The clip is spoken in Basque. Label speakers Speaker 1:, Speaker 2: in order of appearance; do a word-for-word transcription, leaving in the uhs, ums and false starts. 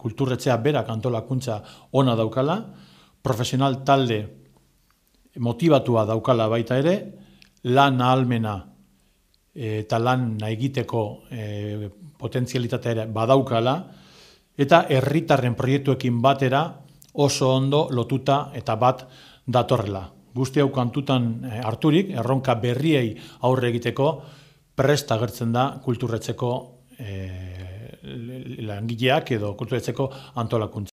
Speaker 1: kulturretzea berak antolakuntza ona daukala, profesional talde motibatua daukala baita ere, lan ahalmena eta lan egiteko e, potentzialitatea ere badaukala, eta herritarren proiektuekin batera oso ondo lotuta eta bat datorrela. Guzti hau kantutan harturik, erronka berriei aurre egiteko prest agertzen da kulturretzeko e, langileak edo kulturretzeko antolakuntza.